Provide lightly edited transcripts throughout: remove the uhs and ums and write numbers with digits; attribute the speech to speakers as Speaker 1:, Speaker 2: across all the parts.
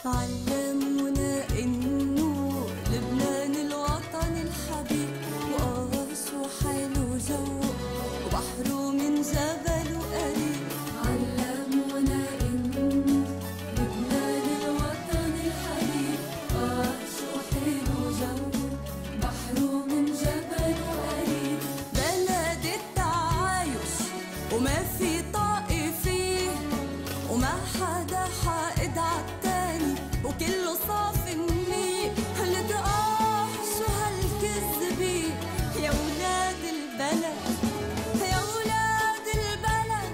Speaker 1: علمونا إنه لبنان الوطن الحبيب، وقاسه حلو جوه وبحره من جبل وقريب. علمونا إنه لبنان الوطن الحبيب، وقاسه حلو جوه بحره من جبل وقريب. بلد التعايش وما في طائفية، وما حدا حائد عالتاني، وكله صافي النية. شو هالكذبة يا ولاد البلد، يا ولاد البلد،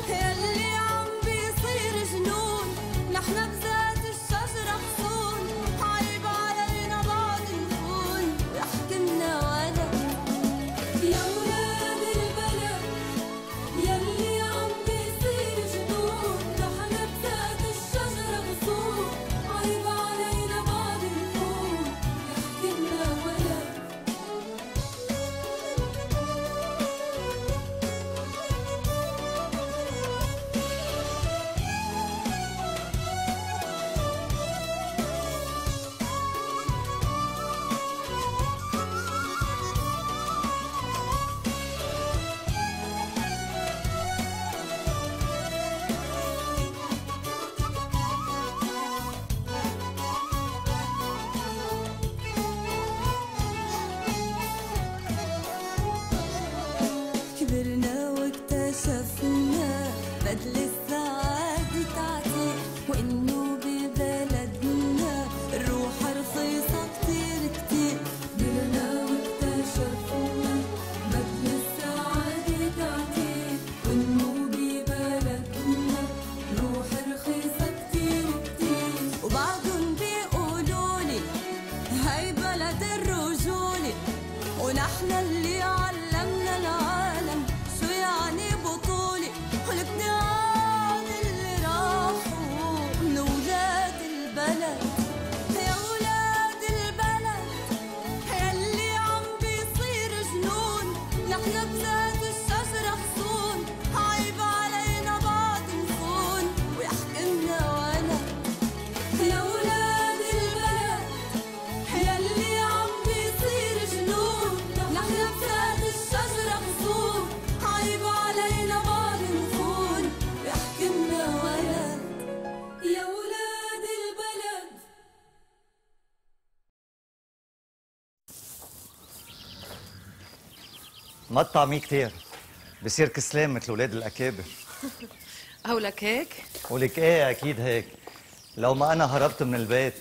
Speaker 1: ياللي عم بيصير جنون. نحن بذات الشجرة حصون، عيب علينا بعض نكون ويحكمنا ولد. يا ولاد البلد ياللي عم بيصير جنون، نحن بذات الشجرة حصون، عيب علينا بعض نكون ويحكمنا ولد. كبرنا واكتشفنا بدل السعادة تعطيل، وإنه ببلدنا الروح رخيصة كتير كتير. كبرنا واكتشفنا بدل السعادة تعطيل، وإنه ببلدنا الروح رخيصة كتير كتير. وبعضن بيقولولي هاي بلد الرجولة، ونحن اللي علمنا العالم شو يعني بطولة. والابتعاد اللي راحوا من ولاد البلد، يا ولاد البلد ياللي عم بيصير جنون. نحن بذات الشجرة حصون، عيب علينا بعض نكون ويحكمنا ولد. يا ولاد البلد ياللي عم بيصير جنون، نحن بذات الشجرة حصون، عيب علينا بعض نكون ويحكمنا ولد. يا ولاد البلد.
Speaker 2: ما تطعميه كتير بصير كسلان مثل ولاد الأكابر.
Speaker 3: قولك هيك؟
Speaker 2: ولك ايه أكيد هيك. لو ما أنا هربت من البيت.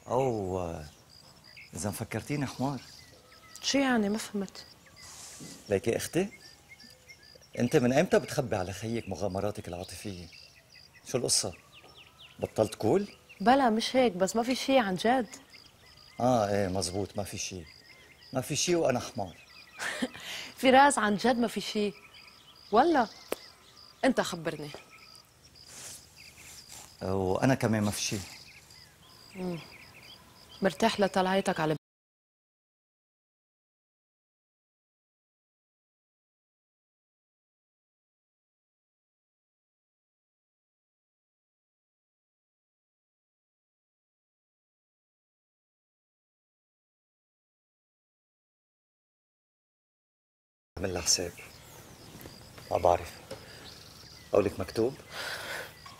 Speaker 2: أو إذا فكرتيني حمار.
Speaker 3: شو يعني ما فهمت؟
Speaker 2: ليكي أختي، أنت من إمتى بتخبي على خيك مغامراتك العاطفية؟ شو القصة؟ بطلت كول؟
Speaker 3: بلا مش هيك، بس ما في شي عن جد.
Speaker 2: إيه مزبوط، ما في شي. ما في شي وأنا حمار.
Speaker 3: فراس عن جد ما في شي ولا؟ انت خبرني.
Speaker 2: وأنا كمان ما في شي.
Speaker 3: مرتاح لطلعتك على
Speaker 2: عمل لها حساب. ما بعرف. قولك مكتوب؟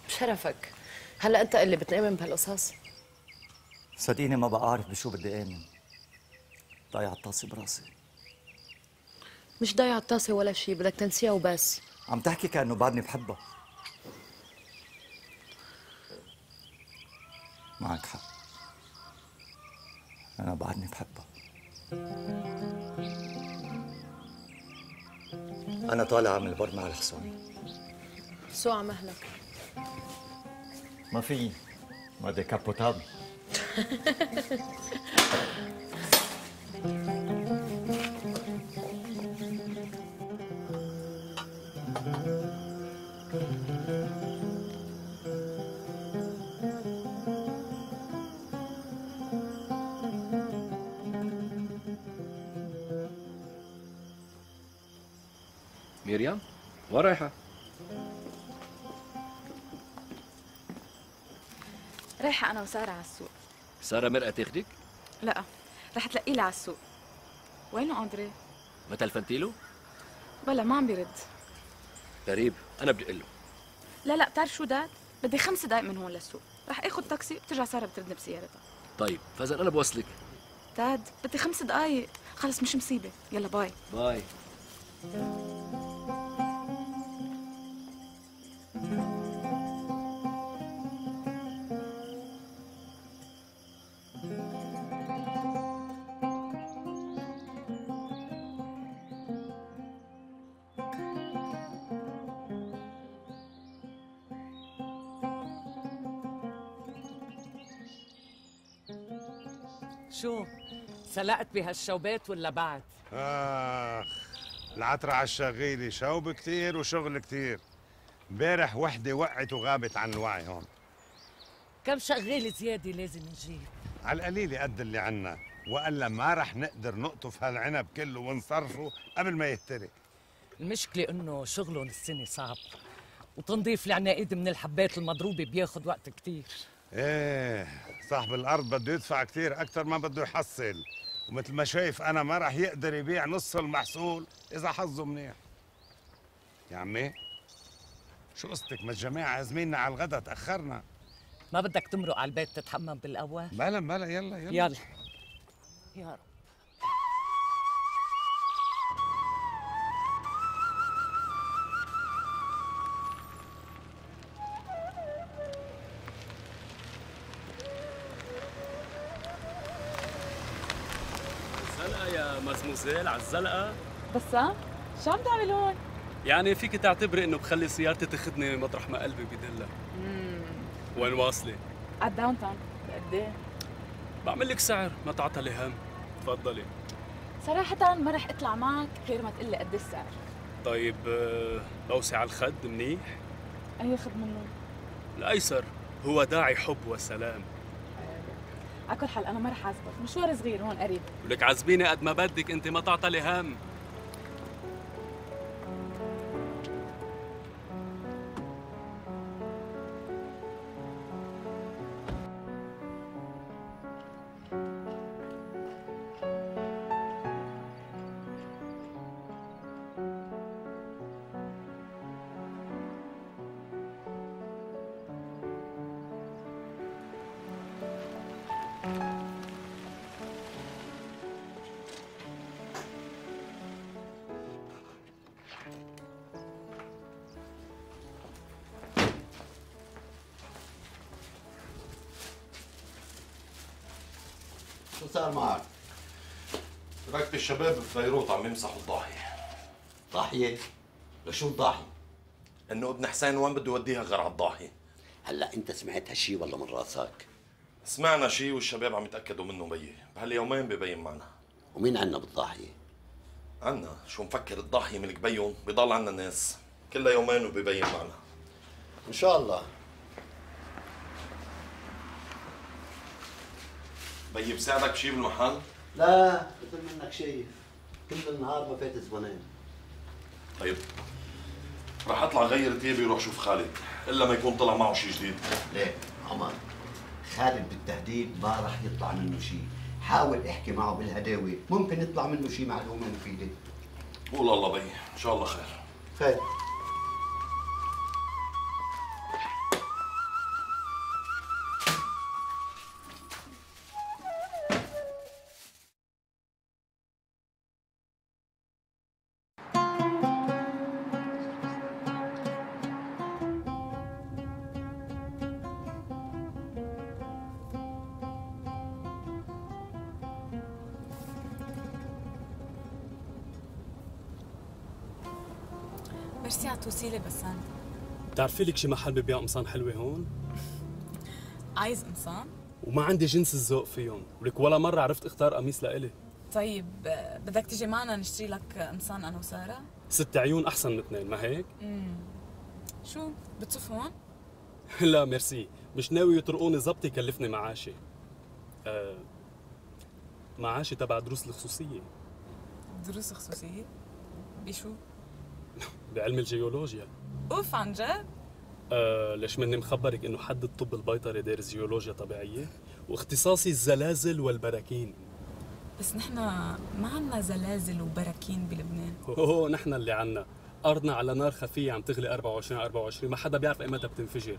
Speaker 3: بشرفك. هلا انت اللي بتآمن بهالقصص؟
Speaker 2: صدقيني ما بقى أعرف بشو بدي آمن. ضايع الطاسة براسي.
Speaker 3: مش ضايع الطاسة ولا شي، بدك تنسيها وبس.
Speaker 2: عم تحكي كأنه بعدني بحبها. معك حق، أنا بعدني بحبها. أنا طالع على البر مع الحصان.
Speaker 3: شو على مهلك؟
Speaker 2: ما في، ما ديكابوتابل.
Speaker 4: مريم، وين رايحة؟
Speaker 5: رايحة أنا وسارة على السوق.
Speaker 4: سارة مرقة تاخدك؟
Speaker 5: لا، رح تلاقيه لي على السوق. وينه أندري؟
Speaker 4: ما تلفنتيله؟
Speaker 5: بلا ما عم بيرد.
Speaker 4: غريب، أنا بدي أقول له.
Speaker 5: لا بتعرف شو داد؟ بدي 5 دقايق من هون للسوق، رح آخذ تاكسي بترجع سارة بتردني بسيارتها.
Speaker 4: طيب، فإذا أنا بوصلك.
Speaker 5: داد بدي 5 دقايق، خلص مش مصيبة، يلا باي.
Speaker 4: باي.
Speaker 6: شو؟ سلقت بهالشوبات ولا بعد؟
Speaker 7: العترة على الشغيلة، شوب كتير وشغل كتير. امبارح وحدة وقعت وغابت عن الوعي هون.
Speaker 6: كم شغالة زيادة لازم نجيب؟
Speaker 7: على القليلة قد اللي عنا، وإلا ما رح نقدر نقطف هالعنب كله ونصرفه قبل ما يهترك.
Speaker 6: المشكلة إنه شغلهم السنة صعب، وتنظيف العناقيد من الحبات المضروبة بياخد وقت كتير.
Speaker 7: ايه، صاحب الأرض بده يدفع كتير أكتر ما بده يحصل، ومثل ما شايف أنا ما رح يقدر يبيع نص المحصول إذا حظه منيح. يا عمي، شو قصتك؟ ما الجماعة زميلنا على الغدا تأخرنا.
Speaker 6: ما بدك تمرق على البيت تتحمم بالقوة؟
Speaker 7: بلا يلا
Speaker 6: يلا يا رب.
Speaker 8: الزلقة يا مزموزيل، على الزلقة.
Speaker 5: بسام، شو عم تعمل هون؟
Speaker 8: يعني فيك تعتبري انه بخلي سيارتي تاخذني مطرح ما قلبي بدلها. وين واصلة؟
Speaker 5: على الداون تاون. بقد ايه؟
Speaker 8: بعمل لك سعر، ما تعطلي هم. تفضلي.
Speaker 5: صراحة ما رح اطلع معك غير ما تقول لي قد السعر.
Speaker 8: طيب بوسع على الخد منيح؟
Speaker 5: أي خد منه؟
Speaker 8: الأيسر هو داعي حب وسلام.
Speaker 5: على كل حال أنا ما رح أعذبك، مشوار صغير هون قريب.
Speaker 8: ولك عزبيني قد ما بدك، أنت ما تعطلي هم.
Speaker 9: شو صار معك؟
Speaker 10: تركت الشباب ببيروت عم يمسحوا الضاحية.
Speaker 9: ضاحية؟ لشو الضاحية؟
Speaker 10: انه ابن حسين وين بده يوديها غير على الضاحية.
Speaker 9: هلا انت سمعت هالشي ولا من راسك؟
Speaker 10: سمعنا شيء والشباب عم يتأكدوا منه بيي، بهاليومين ببين معنا.
Speaker 9: ومين عنا بالضاحية؟
Speaker 10: عنا، شو مفكر الضاحية ملك بيهم، بضل عنا ناس، كلها يومين وببين معنا.
Speaker 9: ان شاء الله.
Speaker 10: بيي بساعدك بشي بالمحل؟
Speaker 9: لا، مثل منك شايف كل النهار ما فات زبونين.
Speaker 10: طيب رح اطلع غير تيابي وروح شوف خالد، الا ما يكون طلع معه شي جديد.
Speaker 9: ليه عمر، خالد بالتهديد ما رح يطلع منه شيء. حاول احكي معه بالهداوة، ممكن يطلع منه شيء معلومة مفيدة.
Speaker 10: قول الله بيي، ان شاء الله خير.
Speaker 9: خير.
Speaker 5: ميرسي على التوصيلة بسام.
Speaker 8: بتعرفي لك شي محل ببيع قمصان حلوة هون؟
Speaker 5: عايز قمصان؟
Speaker 8: وما عندي جنس الذوق فيهم، ولك ولا مرة عرفت اختار قميص لإلي.
Speaker 5: طيب بدك تيجي معنا نشتري لك قمصان أنا وسارة؟
Speaker 8: 6 عيون أحسن من 2، ما هيك؟
Speaker 5: شو بتصف هون؟
Speaker 8: لا ميرسي، مش ناوي يطرقوني ظبط يكلفني معاشي. معاشي تبع دروس الخصوصية.
Speaker 5: دروس خصوصية؟ بشو؟
Speaker 8: بعلم الجيولوجيا.
Speaker 5: اوف عن جد؟
Speaker 8: ليش مني مخبرك انه حد الطب البيطري دارس جيولوجيا طبيعية واختصاصي الزلازل والبراكين.
Speaker 5: بس نحن ما عنا زلازل وبراكين بلبنان.
Speaker 8: اوه نحن اللي عنا، ارضنا على نار خفية عم تغلي 24 ما حدا بيعرف ايمتى بتنفجر.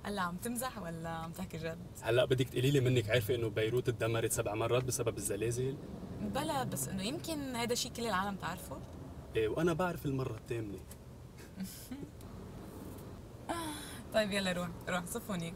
Speaker 5: هلا عم تمزح ولا عم تحكي جد؟
Speaker 8: هلا بدك تقولي لي منك عارفة انه بيروت تدمرت 7 مرات بسبب الزلازل؟
Speaker 5: بلا بس انه يمكن هذا شيء كل العالم تعرفه؟
Speaker 8: ايه وانا بعرف المرة الثامنة.
Speaker 5: طيب يلا روح صف هونيك.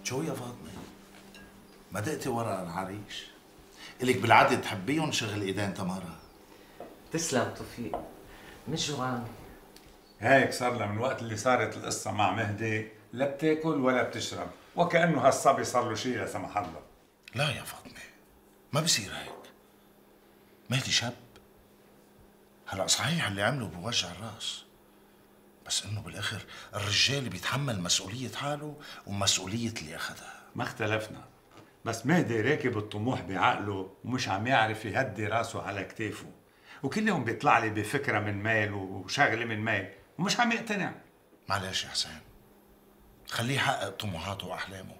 Speaker 11: شو يا فاطمة؟ ما دقتي ورا العريش؟ إلك بالعادة تحبيهم شغل ايدين تمارا.
Speaker 6: تسلم توفيق، مش جوعانة.
Speaker 12: هيك صار لها من وقت اللي صارت القصة مع مهدي لا بتاكل ولا بتشرب، وكأنه هالصبي صار له شيء لا سمح الله.
Speaker 11: لا يا فاطمة، ما بصير هيك. مهدي شاب. هلا صحيح اللي عمله بوجع الراس، بس انه بالاخر الرجال بيتحمل مسؤولية حاله ومسؤولية اللي اخذها.
Speaker 12: ما اختلفنا، بس مهدي راكب الطموح بعقله ومش عم يعرف يهدي راسه على كتافه، وكل يوم بيطلع لي بفكرة من ميل وشغلة من ميل ومش عم يقتنع.
Speaker 11: معلش يا حسين، خليه يحقق طموحاته واحلامه.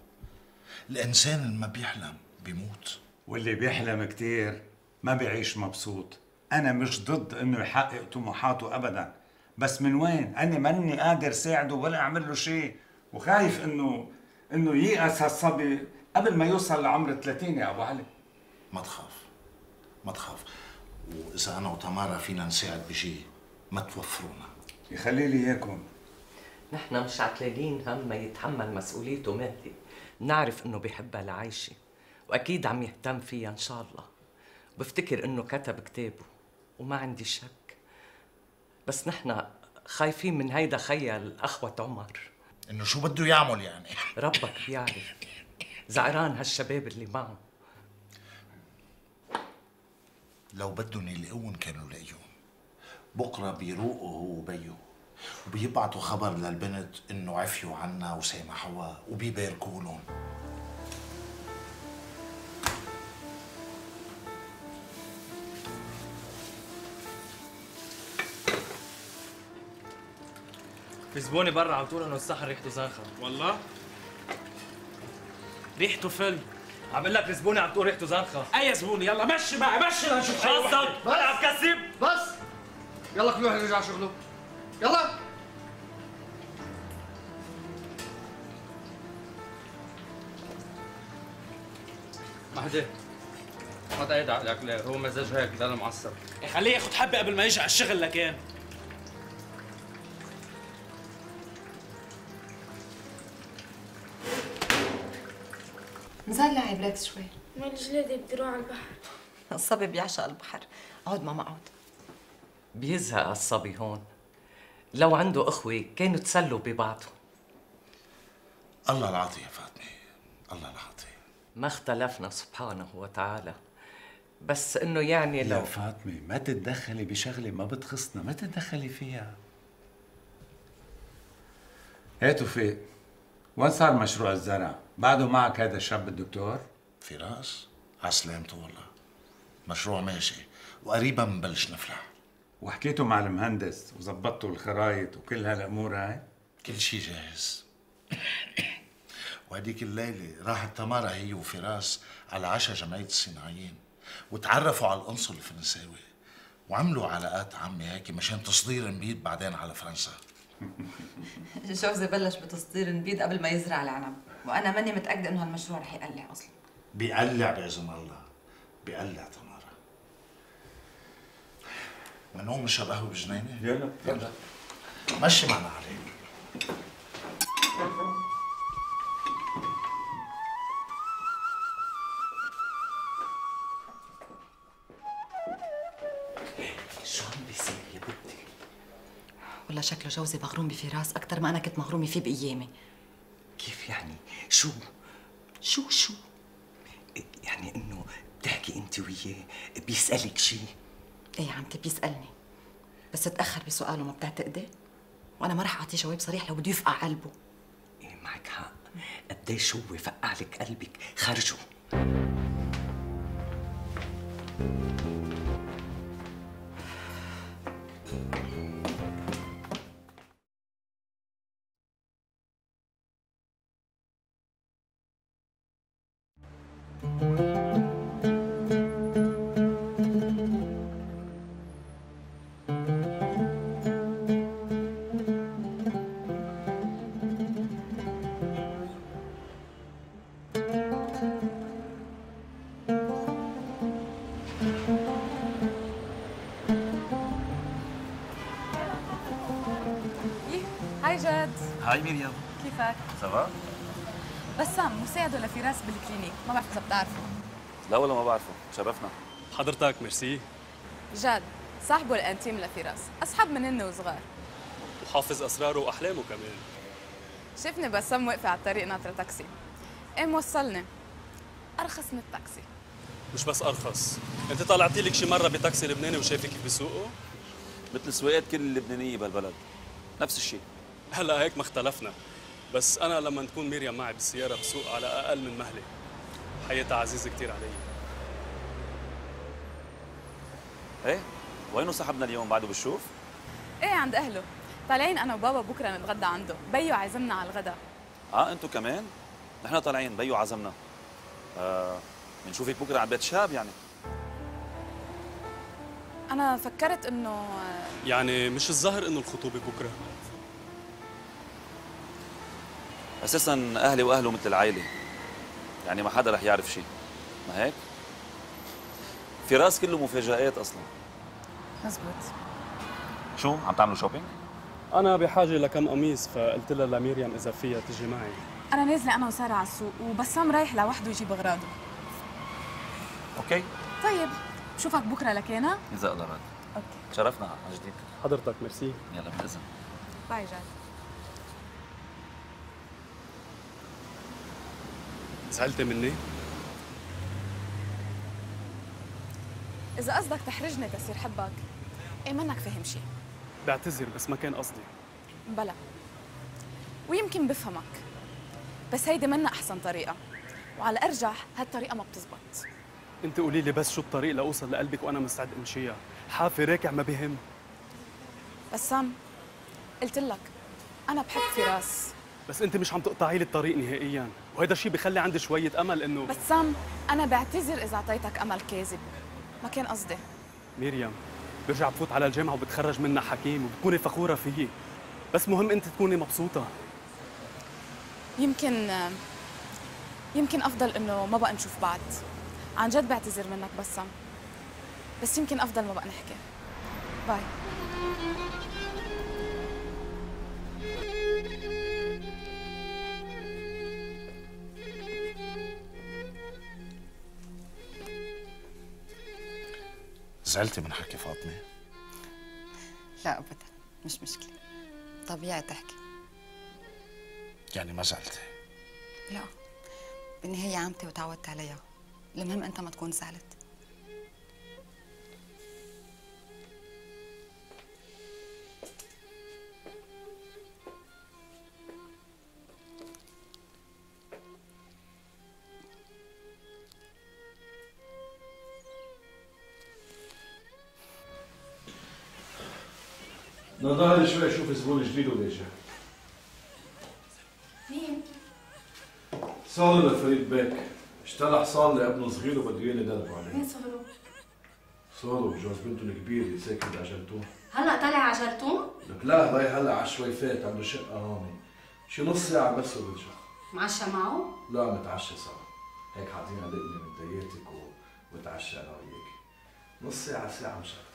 Speaker 11: الانسان اللي ما بيحلم بيموت،
Speaker 12: واللي بيحلم كتير ما بيعيش مبسوط. انا مش ضد انه يحقق طموحاته ابدا، بس من وين؟ انا ماني قادر ساعده ولا اعمل له شيء، وخايف انه ييأس هالصبي قبل ما يوصل لعمر 30 يا ابو علي.
Speaker 11: ما تخاف، واذا انا وتمارا فينا نساعد بشيء ما توفرونا.
Speaker 12: يخلي لي اياكم.
Speaker 6: نحن مش عتلالين هم ما يتحمل مسؤوليته مهدي، بنعرف انه بيحبها لعايشة واكيد عم يهتم فيها ان شاء الله، بفتكر انه كتب كتابه وما عندي شك، بس نحن خايفين من هيدا خيال أخوة عمر.
Speaker 11: إنه شو بده يعمل يعني؟
Speaker 6: ربك بيعرف، زعران هالشباب اللي معه.
Speaker 11: لو بدهم يلاقوهم كانوا لاقيهم. بكره بيروقوا هو وبيو وبيبعتوا خبر للبنت إنه عفيوا عنا وسامحوها وبيباركوا لهم.
Speaker 13: في زبوني برا على طول انه الصحن ريحته زنخه. والله؟ ريحته فل. عم بقول لك الزبوني عم تقول ريحته زنخه. اي زبوني؟ يلا مشي معي مشي لنشوف شو قصدك؟ انا عم كذب.
Speaker 14: بس يلا كل واحد يرجع شغله. يلا
Speaker 13: مهدي ما تقيد عقلك ليه؟ هو مزاج هيك ضل معصب.
Speaker 14: خليه ياخد حبه قبل ما يجي على الشغل لكان.
Speaker 15: نزال لعب ركز شوي.
Speaker 16: مالي جلادي بدي اروح على البحر.
Speaker 15: الصبي بيعشق البحر. اقعد ماما اقعد.
Speaker 6: بيزهق الصبي هون. لو عنده اخوه كانوا تسلوا ببعضهم.
Speaker 11: الله العطيه يا فاطمه، الله العطيه.
Speaker 6: ما اختلفنا سبحانه وتعالى، بس انه يعني لو
Speaker 12: يا فاطمه ما تتدخلي بشغله ما بتخصنا، ما تتدخلي فيها. ايه توفيق، وين صار مشروع الزرع؟ بعده معك هذا الشاب الدكتور؟
Speaker 11: فراس عسلامته والله، مشروع ماشي وقريبا بنبلش نفلح.
Speaker 12: وحكيتوا مع المهندس وظبطتوا الخرايط وكل هالامور هاي؟
Speaker 11: كل شيء جاهز. وهديك الليله راحت تمارا هي وفراس على عشاء جمعيه الصناعيين وتعرفوا على القنصل الفرنساوي وعملوا علاقات عمي هيك مشان تصدير نبيد بعدين على فرنسا.
Speaker 15: جوزي بلش بتصدير نبيد قبل ما يزرع العنب، وانا ماني متاكده انه هالمشروع رح يقلع اصلا.
Speaker 11: بيقلع باذن الله، بيقلع تمارا. منقوم نشرب قهوه بجنينه؟
Speaker 12: يلا
Speaker 11: مشي معنا عليك.
Speaker 6: شو عم بيصير يا بنتي؟
Speaker 15: والله شكله جوزي مغروم بفراس اكثر ما انا كنت مغرومه فيه بايامي.
Speaker 6: كيف يعني؟ شو يعني انه بتحكي انت وياه بيسألك شيء؟
Speaker 15: ايه عمتي بيسألني، بس تأخر بسؤاله ما بتعتقدي؟ وانا ما رح اعطيه جواب صريح لو بده يفقع قلبه.
Speaker 6: ايه معك حق، قديش هو فقع لك قلبك، خرجه.
Speaker 5: هاي جد.
Speaker 2: هاي مريم.
Speaker 5: كيفك؟
Speaker 2: سافا؟
Speaker 5: بسام مساعده لفراس بالكلينيك، ما بعرف اذا بتعرفه.
Speaker 2: لا والله ما بعرفه، تشرفنا.
Speaker 8: حضرتك ميرسي.
Speaker 5: جد صاحبه الانتيم لفراس، اصحاب من هن وصغار.
Speaker 8: وحافظ اسراره واحلامه كمان.
Speaker 5: شفني بسام واقفه على الطريق ناطره تاكسي، قام وصلني ارخص من التاكسي.
Speaker 8: مش بس ارخص، انت طلعتي لك شي مره بتاكسي لبناني وشايفك كيف بيسوقوا؟
Speaker 2: مثل سواقات كل اللبنانيه بهالبلد، نفس الشيء.
Speaker 8: هلا هيك ما اختلفنا، بس انا لما تكون مريم معي بالسياره بسوق على اقل من مهله. حياتها عزيزه كثير علي.
Speaker 2: ايه وينه صاحبنا اليوم؟ بعده بالشوف؟
Speaker 5: ايه عند اهله، طالعين انا وبابا بكره نتغدى عنده، بيو عازمنا على الغداء.
Speaker 2: انتوا كمان؟ نحن طالعين، بيو عزمنا. بنشوفك بكره على بيت شاب يعني.
Speaker 5: انا فكرت انه
Speaker 8: يعني مش الظاهر انه الخطوبه بكره.
Speaker 2: اساسا اهلي واهله مثل العائله، يعني ما حدا رح يعرف شيء، ما هيك؟ فراس كله مفاجآت اصلا.
Speaker 5: مزبوط.
Speaker 2: شو عم تعملوا شوبينج؟
Speaker 8: انا بحاجه لكم قميص، فقلت لها لمريم اذا فيها تجي معي.
Speaker 5: انا نازله انا وساره على السوق، وبسام رايح لوحده يجيب اغراضه.
Speaker 2: اوكي.
Speaker 5: طيب بشوفك بكره لكينا؟
Speaker 2: اذا الله راد.
Speaker 5: اوكي.
Speaker 2: تشرفنا على جديد.
Speaker 8: حضرتك ميرسي.
Speaker 2: يلا بالاذن.
Speaker 5: باي جاد.
Speaker 8: زعلتي مني؟
Speaker 5: إذا قصدك تحرجني تصير حبك، إيه منك فاهم شيء.
Speaker 8: بعتذر بس ما كان قصدي.
Speaker 5: بلا. ويمكن بفهمك، بس هيدي منا أحسن طريقة، وعلى أرجح هالطريقة ما بتزبط.
Speaker 8: انت قولي لي بس شو الطريق لاوصل لقلبك وانا مستعد امشيها، حافي راكع ما بهم.
Speaker 5: بسام قلت لك أنا بحب فراس.
Speaker 8: بس انت مش عم تقطعي لي الطريق نهائيا، وهذا الشيء بخلي عندي شوية امل انه
Speaker 5: بسام أنا بعتذر إذا أعطيتك أمل كاذب، ما كان قصدي.
Speaker 8: مريم برجع بفوت على الجامعة وبتخرج منها حكيم وبتكوني فخورة فيي، بس مهم انت تكوني مبسوطة.
Speaker 5: يمكن أفضل إنه ما بقى نشوف بعض، عن جد بعتذر منك بسام، بس يمكن افضل ما بقى نحكي. باي.
Speaker 11: زعلتي من حكي فاطمة؟
Speaker 15: لا ابدا، مش مشكله، طبيعي تحكي.
Speaker 11: يعني ما زعلتي؟
Speaker 15: لا، بالنهايه عمتي وتعودت عليها، المهم انت ما تكون زعلت.
Speaker 10: نضال شوي اشوف زبون جديد ولا جاي.
Speaker 16: مين؟
Speaker 10: صالح لفريد بيك، اشترى حصان لابنه صغير وبده اياه يدربوا عليه.
Speaker 16: مين صهرو؟
Speaker 10: صالح بجوز بنته الكبير اللي ساكن بعجلتون.
Speaker 16: هلا طالع على جرتون؟
Speaker 10: لك لا، رايح هلا على الشويفات، عنده شقة هون. شي نص ساعة بس وبرجع.
Speaker 16: معشى معه؟
Speaker 10: لا، متعشى سوا. هيك حاطين لقمة من دياتك وبتعشى انا وياكي. نص ساعة ساعة مش أكتر.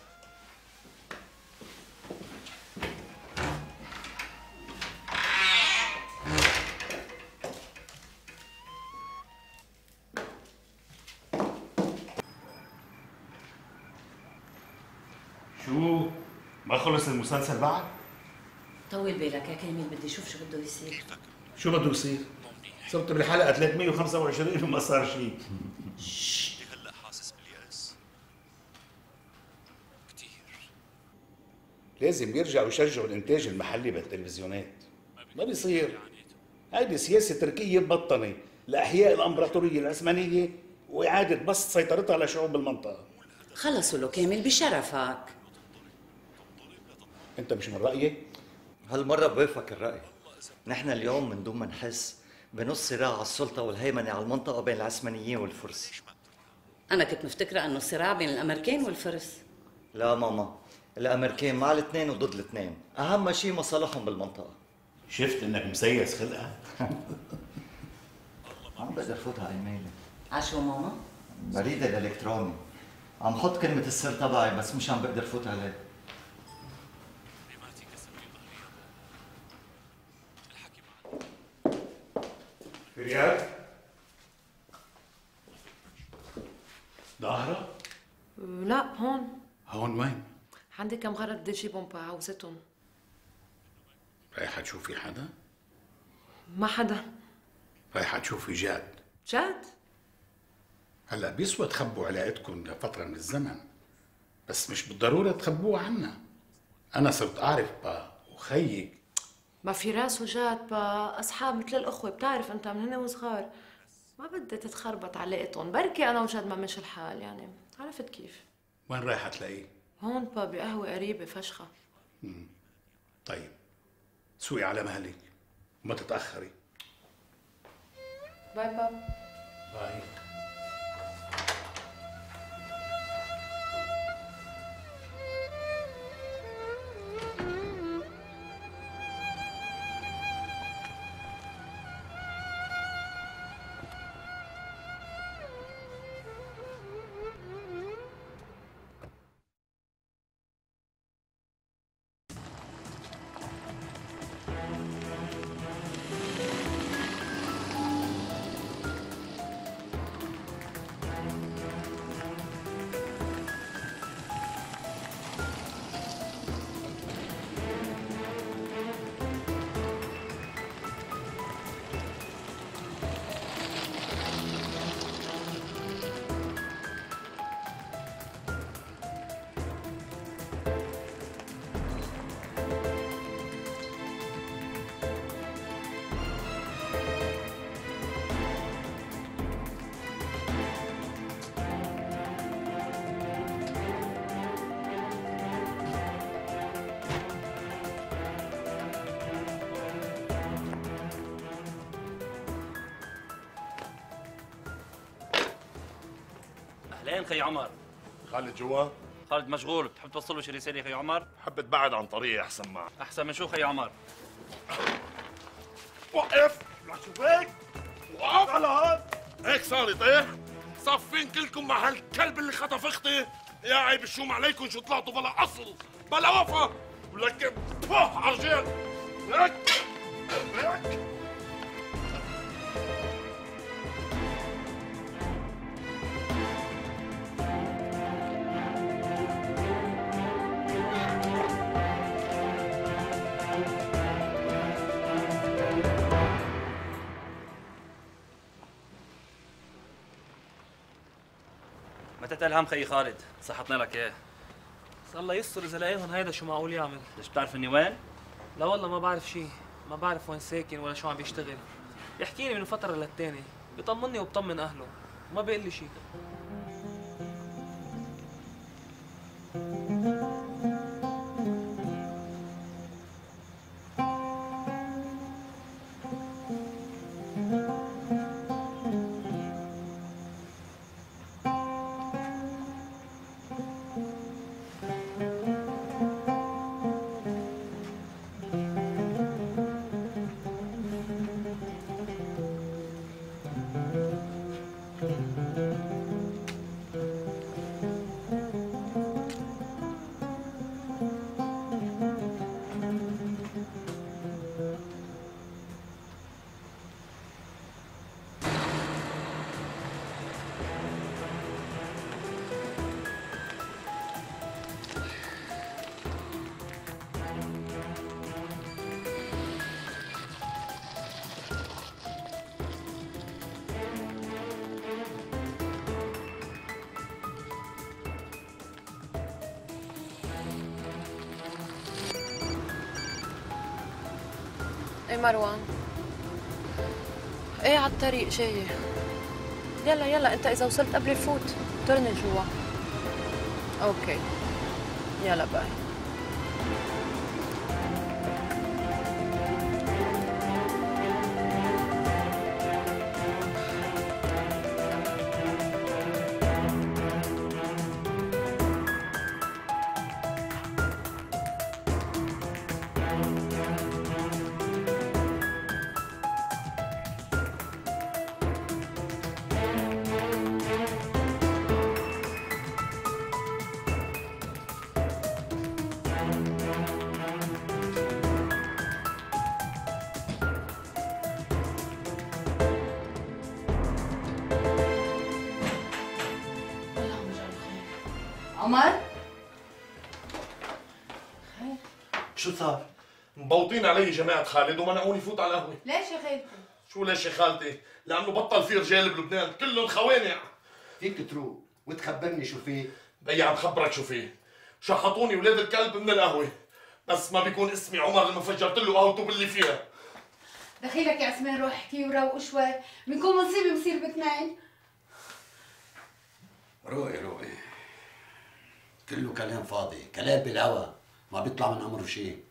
Speaker 12: شو؟ ما خلص المسلسل بعد؟
Speaker 17: طول بالك يا كامل، بدي اشوف شو بده يصير.
Speaker 12: شو بده يصير؟ صرت بالحلقة 325 وما صار شيء.
Speaker 18: هلا حاسس باليأس كثير.
Speaker 19: لازم يرجعوا يشجعوا الانتاج المحلي بالتلفزيونات. ما بيصير. هيدي سياسة تركية مبطنة لإحياء الإمبراطورية العثمانية وإعادة بسط سيطرتها على شعوب المنطقة.
Speaker 17: خلصوا له كامل بشرفك.
Speaker 19: أنت مش من رأيي؟
Speaker 2: هالمرة بوافق الرأي. نحن اليوم من دون ما نحس بنص صراع على السلطة والهيمنة على المنطقة بين العثمانيين والفرس.
Speaker 17: أنا كنت مفتكرة إنه صراع بين الأمريكان والفرس.
Speaker 2: لا ماما، الأمريكان مع الاثنين وضد الاثنين، أهم شيء مصالحهم بالمنطقة.
Speaker 12: شفت إنك مسيس خلقها؟
Speaker 2: عم بقدر فوت على ايميلي.
Speaker 17: عشو ماما؟
Speaker 2: بريد الإلكتروني. عم حط كلمة السر تبعي بس مش عم بقدر فوت عليه.
Speaker 12: في ريال؟ ظاهرة؟
Speaker 3: لا، هون.
Speaker 12: هون وين؟
Speaker 3: عندي كم غرض بدي اجيبهم بعوزتهم.
Speaker 12: رايحة تشوفي حدا؟
Speaker 3: ما حدا.
Speaker 12: رايحة تشوفي جاد؟
Speaker 3: جاد؟
Speaker 12: هلا بيسوى تخبوا علاقتكم لفترة من الزمن، بس مش بالضرورة تخبوها عنا. أنا صرت أعرف با وخيك.
Speaker 3: ما في راس وجاد با أصحاب مثل الأخوة، بتعرف أنت من هنا وصغار. ما بدي تتخربط علاقتهم، بركي أنا وجاد ما مشي الحال يعني، عرفت كيف؟
Speaker 12: وين رايحة تلاقيه؟
Speaker 3: هون با بقهوة قريبة فشخة.
Speaker 12: طيب سوقي على مهلك وما تتأخري.
Speaker 3: باي بابا.
Speaker 12: باي.
Speaker 13: اهلين خي عمر.
Speaker 10: خالد جوا؟
Speaker 13: خالد مشغول، بتحب توصل له شي رساله خي عمر؟
Speaker 10: حبيت بعد عن طريقي احسن معك.
Speaker 13: احسن من شو خي عمر؟
Speaker 10: وقف! لك شو هيك؟ وقف على هاد! هيك صار يطيح؟ صافين كلكم مع هالكلب اللي خطف اختي؟ يا عيب الشوم عليكم شو طلعتوا بلا اصل بلا وفا ولك عرجال لك لك.
Speaker 13: ما تتقل هم خيي خالد، صحتنا لك اياه.
Speaker 14: بس الله يستر اذا لاقيهم هيدا شو معقول يعمل؟
Speaker 13: ليش بتعرف اني وين؟
Speaker 14: لا والله ما بعرف شيء، ما بعرف وين ساكن ولا شو عم بيشتغل. يحكي لي من فترة للتانية، بيطمني وبطمن اهله، ما بيقول لي شيء.
Speaker 3: ايه مروان؟ ايه على الطريق جاية. يلا يلا انت اذا وصلت قبل الفوت طرني جوا. اوكي يلا باي.
Speaker 16: عمر
Speaker 10: شو صار؟ مبوطين علي جماعة خالد ومنعوني فوت على القهوة.
Speaker 16: ليش يا خالتي؟
Speaker 10: شو ليش يا خالتي؟ لأنه بطل في رجال بلبنان كلهم خوانع.
Speaker 9: فيك تروح وتخبرني شو فيه؟
Speaker 10: بيي عم خبرك شو فيه. شحطوني ولاد الكلب من القهوة بس ما بيكون اسمي عمر لما فجرت له قهوته باللي فيها.
Speaker 16: دخيلك يا عثمان روح احكي وروق شوي، بنكون مصيبة بصير باثنين.
Speaker 9: روقي كله كلام فاضي، كلام بالهوا ما بيطلع من امره شيء.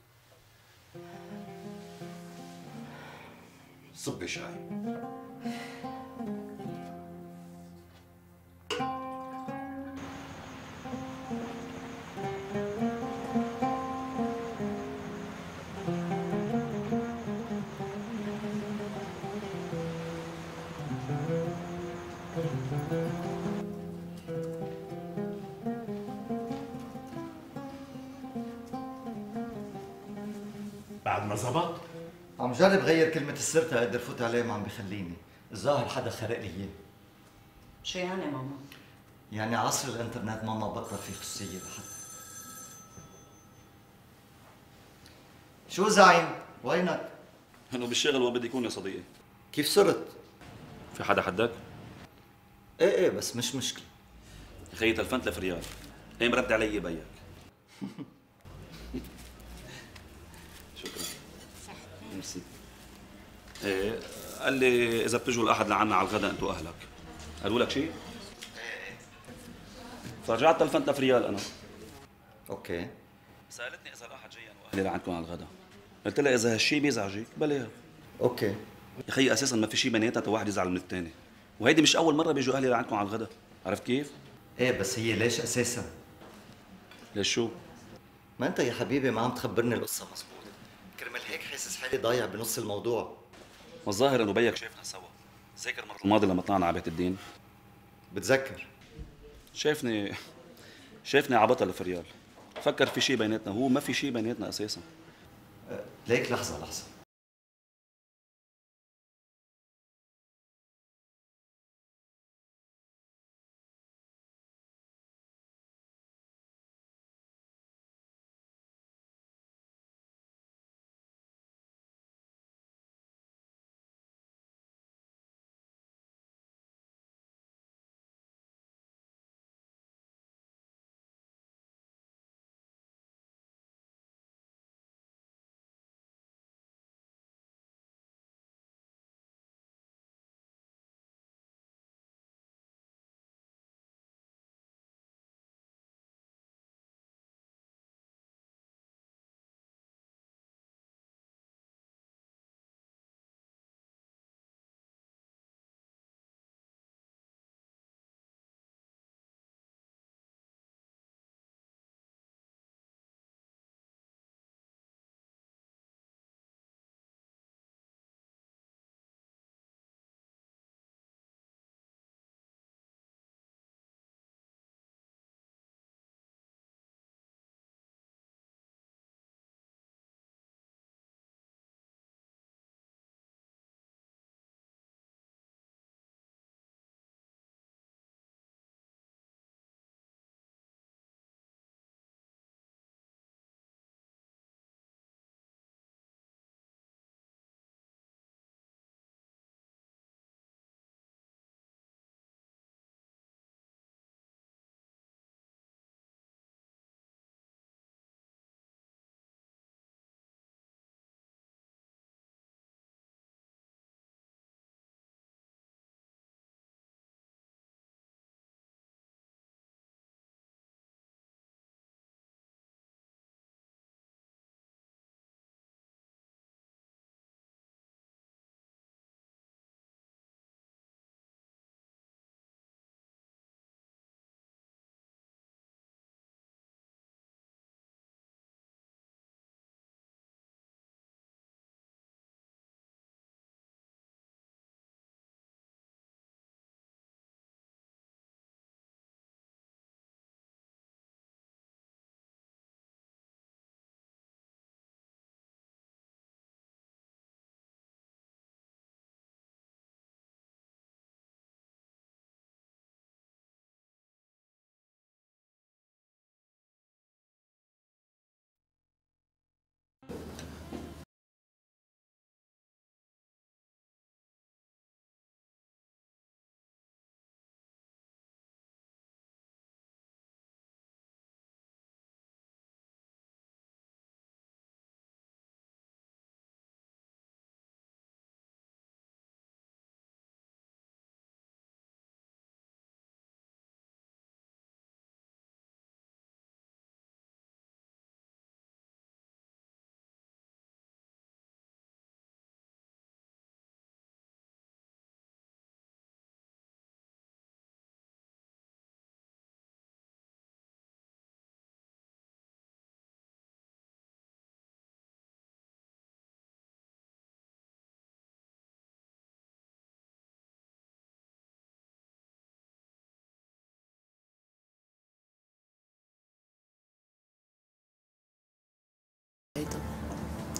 Speaker 9: صبي شاي.
Speaker 10: بعد ما زبط؟
Speaker 2: عم جرب غير كلمة السر تقدر فوت عليه ما عم بخليني، الظاهر حدا خرق لي اياه.
Speaker 15: شو يعني ماما؟
Speaker 2: يعني عصر الانترنت ماما بطل في خصوصية لحد. شو زعيم؟ وينك؟
Speaker 18: انه بالشغل وين بدي يكون يا صديقي؟
Speaker 2: كيف صرت؟
Speaker 18: في حدا حدك؟
Speaker 2: ايه بس مش مشكلة.
Speaker 18: خيي تلفنت لف ريال، ايه مرد علي بيك. شكرا. ميرسي. ايه قال لي اذا بتجوا الاحد لعنا على الغداء انتوا اهلك. قالوا لك شيء؟ فرجعت تلفنت لف ريال انا.
Speaker 2: اوكي.
Speaker 18: سالتني اذا الاحد جاي انا واهلي لعندكم على الغداء. قلت لها اذا هالشيء بيزعجك بلاها.
Speaker 2: اوكي.
Speaker 18: يا خيي اساسا ما في شيء بيناتنا واحد يزعل من الثاني. وهيدي مش اول مره بيجوا اهلي لعندكم على الغداء، عرفت كيف؟
Speaker 2: ايه بس هي ليش اساسا؟
Speaker 18: ليش شو؟
Speaker 2: ما انت يا حبيبي ما عم تخبرني القصة مزبوط. كرمال هيك حاسس حالي ضايع بنص الموضوع.
Speaker 18: والظاهر انه بيك شايفنا سوا. ذاكر المره الماضيه لما طلعنا على بيت الدين؟
Speaker 2: بتذكر.
Speaker 18: شايفني عبطل فريال. فكر في شيء بيناتنا، هو ما في شيء بيناتنا اساسا.
Speaker 2: ليك لحظة.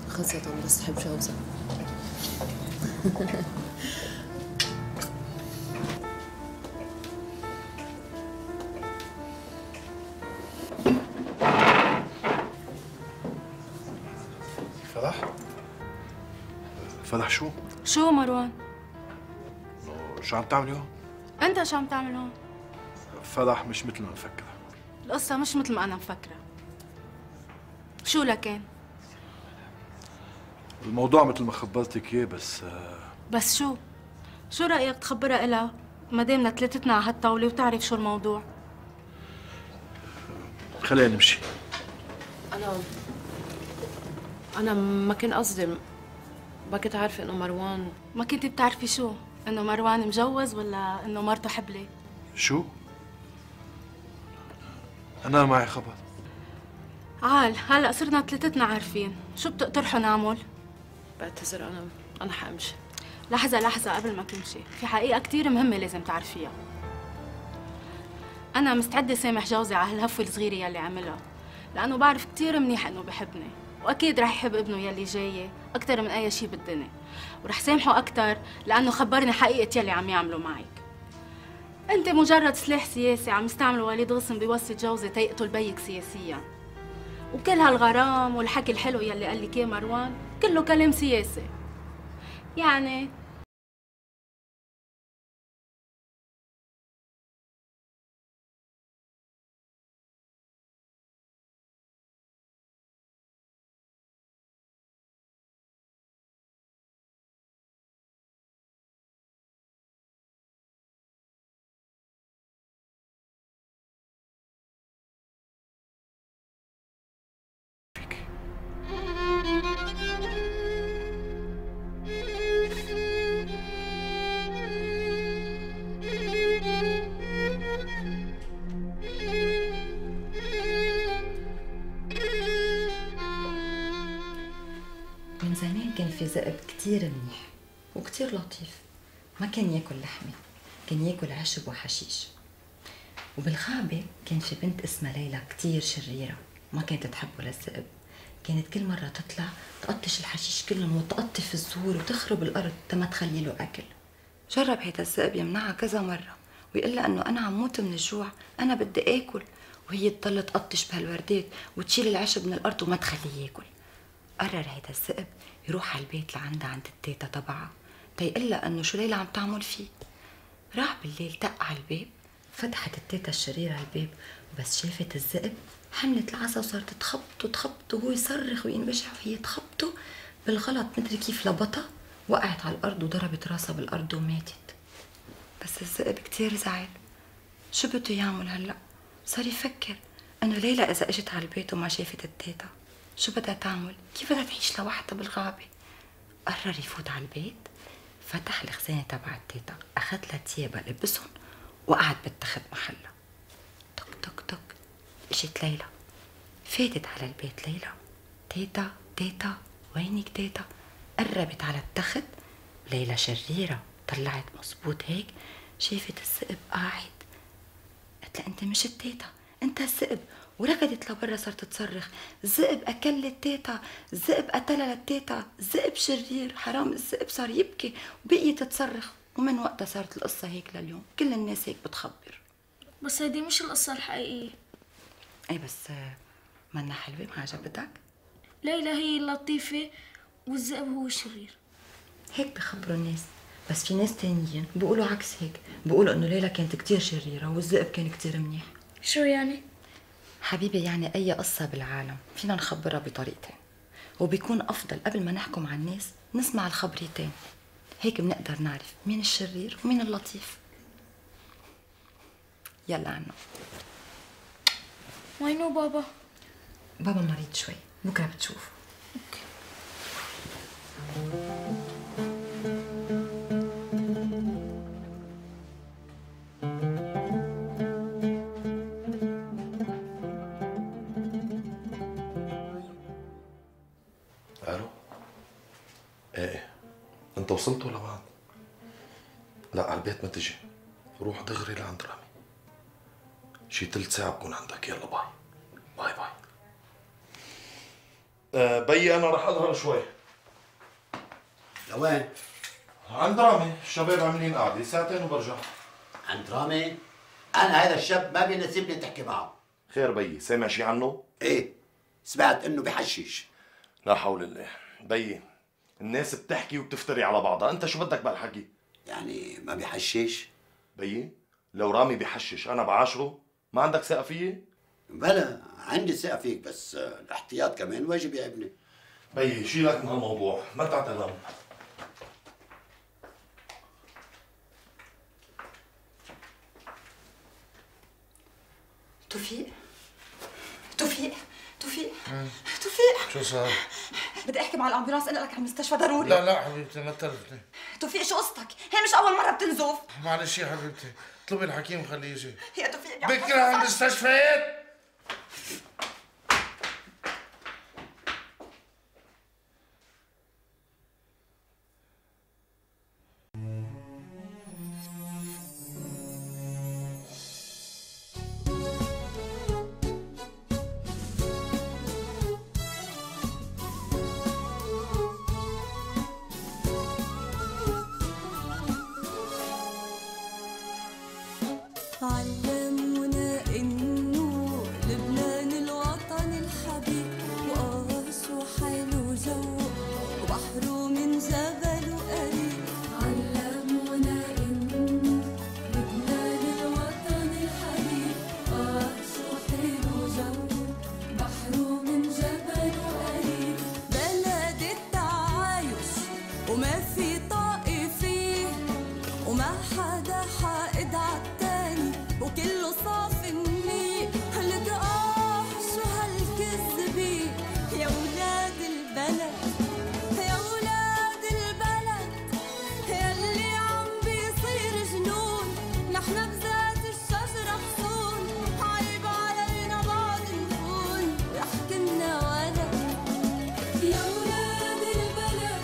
Speaker 3: خاصة بس تحب جوزها.
Speaker 11: فضح شو؟
Speaker 5: شو مروان؟
Speaker 11: شو عم تعملي هون؟
Speaker 5: انت شو عم تعمل هون؟
Speaker 11: فضح مش مثل ما مفكرة.
Speaker 5: القصة مش مثل ما انا مفكرة. شو لكن؟
Speaker 11: الموضوع مثل ما خبرتك اياه بس
Speaker 5: شو؟ شو رأيك تخبرها إلها ما دامنا ثلاثتنا على هالطاولة وتعرف شو الموضوع؟
Speaker 11: خلينا نمشي.
Speaker 3: أنا ما كان قصدي، ما كنت عارفة إنه مروان.
Speaker 5: ما كنتي بتعرفي شو؟ إنه مروان مجوز ولا إنه مرته حبلة؟
Speaker 11: شو؟ أنا معي خبر.
Speaker 5: عال هلا صرنا ثلاثتنا عارفين، شو بتقترحوا نعمل؟
Speaker 3: بعتذر أنا حأمشي.
Speaker 5: لحظة قبل ما تمشي، في حقيقة كتير مهمة لازم تعرفيها. أنا مستعدة سامح جوزي على هالهفوة الصغيرة يلي عملها، لأنه بعرف كتير منيح إنه بحبني، وأكيد رح يحب ابنه يلي جاي أكتر من أي شي بالدنيا، ورح سامحه أكتر لأنه خبرني حقيقة يلي عم يعمله معك. أنت مجرد سلاح سياسي عم يستعمله وليد غصن بواسطة جوزي تيقتل بيك سياسيا، وكل هالغرام والحكي الحلو يلي قال لك إياه مروان كله كلام سياسي. يعني
Speaker 15: من زمان كان في ذئب كتير منيح وكتير لطيف، ما كان ياكل لحمة، كان ياكل عشب وحشيش. وبالغابة كان في بنت اسمها ليلى كتير شريرة، ما كانت تحبه للذئب، كانت كل مرة تطلع تقطش الحشيش كلهم وتقطف الزهور وتخرب الأرض تما تخلي له أكل. جرب هيدا الذئب يمنعها كذا مرة ويقول لها إنه أنا عم موت من الجوع، أنا بدي آكل، وهي تضل تقطش بهالوردات وتشيل العشب من الأرض وما تخليه ياكل. قرر هيدا الذئب يروح على البيت لعندها عند التيتا تبعها تيقول لها انه شو ليلى عم تعمل فيه. راح بالليل دق على الباب، فتحت التيتا الشريرة الباب، وبس شافت الذئب حملت العصا وصارت تخبطه وهو يصرخ وينبجع وهي تخبطه بالغلط، مدري كيف لبطها، وقعت على الارض وضربت راسها بالارض وماتت. بس الذئب كتير زعل، شو بده يعمل هلا؟ صار يفكر انه ليلى اذا اجت على البيت وما شافت التيتا شو بدها تعمل؟ كيف بدها تعيش لوحدها بالغابة؟ قرر يفوت على البيت، فتح الخزانة تبع التيتا، أخذ لها تيابها لبسهم وقعد بالتخت محلها. تك تك تك اجت ليلى، فاتت على البيت ليلى، تيتا تيتا وينك تيتا؟ قربت على التخت، ليلى شريرة طلعت مظبوط هيك، شافت الذئب قاعد، قالت لها انت مش التيتا، انت الذئب، وركضت لبرا صارت تصرخ، الذئب اكل التيتا، الذئب قتلها للتيتا، الذئب شرير، حرام الذئب. صار يبكي وبقيت تصرخ، ومن وقتها صارت القصة هيك لليوم، كل الناس هيك بتخبر.
Speaker 20: بس هيدي مش القصة الحقيقية.
Speaker 15: اي بس منا حلوة؟ ما عجبتك؟
Speaker 20: ليلى هي اللطيفة والذئب هو الشرير.
Speaker 15: هيك بخبروا الناس، بس في ناس تانيين بيقولوا عكس هيك، بيقولوا انه ليلى كانت كتير شريرة والذئب كان كتير منيح.
Speaker 20: شو يعني؟
Speaker 15: حبيبي يعني أي قصة بالعالم فينا نخبرها بطريقتين، وبيكون أفضل قبل ما نحكم على الناس نسمع الخبريتين، هيك بنقدر نعرف مين الشرير ومين اللطيف. يلا عنه.
Speaker 20: وينو بابا؟
Speaker 15: بابا مريض شوي، بكرة بتشوف.
Speaker 20: اوكي.
Speaker 21: الو؟ ايه انت وصلتوا لبعض؟ لا على البيت ما تجي، روح دغري لعند رامي، شي 3 ساعة بكون عندك. يلا باي باي باي. بيي انا رح اظهر شوي.
Speaker 9: لوين؟
Speaker 21: عند رامي، الشباب عاملين قعدة 2 ساعة وبرجع.
Speaker 9: عند رامي؟ انا هذا الشاب ما بيناسبني تحكي معه.
Speaker 21: خير بيي، سامع شي عنه؟
Speaker 9: ايه سمعت انه بحشش.
Speaker 21: لا حول الله. بيي الناس بتحكي وبتفتري على بعضها، انت شو بدك بهالحكي؟
Speaker 9: يعني ما بحشش؟
Speaker 21: بيي لو رامي بحشش انا بعاشره، ما عندك ثقة فيي؟
Speaker 9: بلا عندي ثقة فيك، بس الاحتياط كمان واجب يا ابني.
Speaker 21: بيي شيلك من هالموضوع، ما تعتلم.
Speaker 15: توفيق توفيق توفيق توفيق،
Speaker 11: شو صار؟
Speaker 15: بدي احكي مع الامبولانس، انقلك على المستشفى ضروري.
Speaker 11: لا حبيبتي ما تلفتني.
Speaker 15: توفيق شو قصتك؟ هي مش اول مره بتنزف.
Speaker 11: معلش يا حبيبتي، اطلبي الحكيم خليه يجي.
Speaker 15: يا توفيق
Speaker 11: بكره على المستشفيات.
Speaker 1: علمونا إنه لبنان الوطن الحبيب، شو حلو جوه وبحره من جبل وقريب. علمونا إنه لبنان الوطن الحبيب، شو حلو جوه بحره من جبل وقريب. بلد التعايش وما في طائفية، وما حدا حائد عالتاني، وكله صافي النية. لك شو هالكذبة يا ولاد البلد، يا ولاد البلد، ياللي عم بيصير جنون. نحن بذات الشجرة غصون، عيب علينا بعد نكون يحكمنا ولد. يا ولاد البلد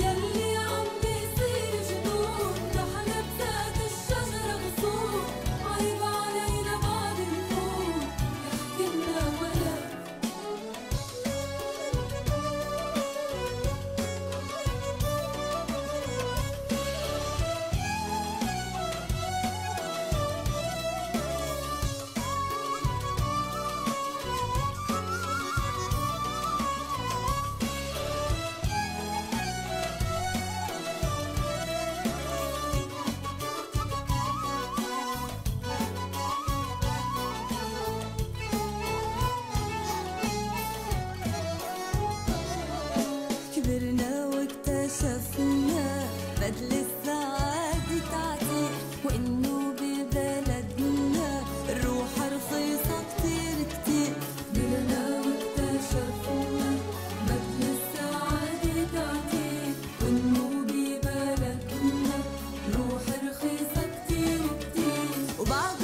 Speaker 1: ياللي عم بيصير جنون، نحن بذات الشجرة غصون، عيب علينا بعد نكون يحكمنا ولد. كبرنا واكتشفنا بدل السعادة تعتيق، وإنه ببلدنا الروح رخيصة كتير كتير. كبرنا واكتشفنا بدل السعادة تعتيق، وإنه ببلدنا الروح رخيصة كتير كتير. وبعد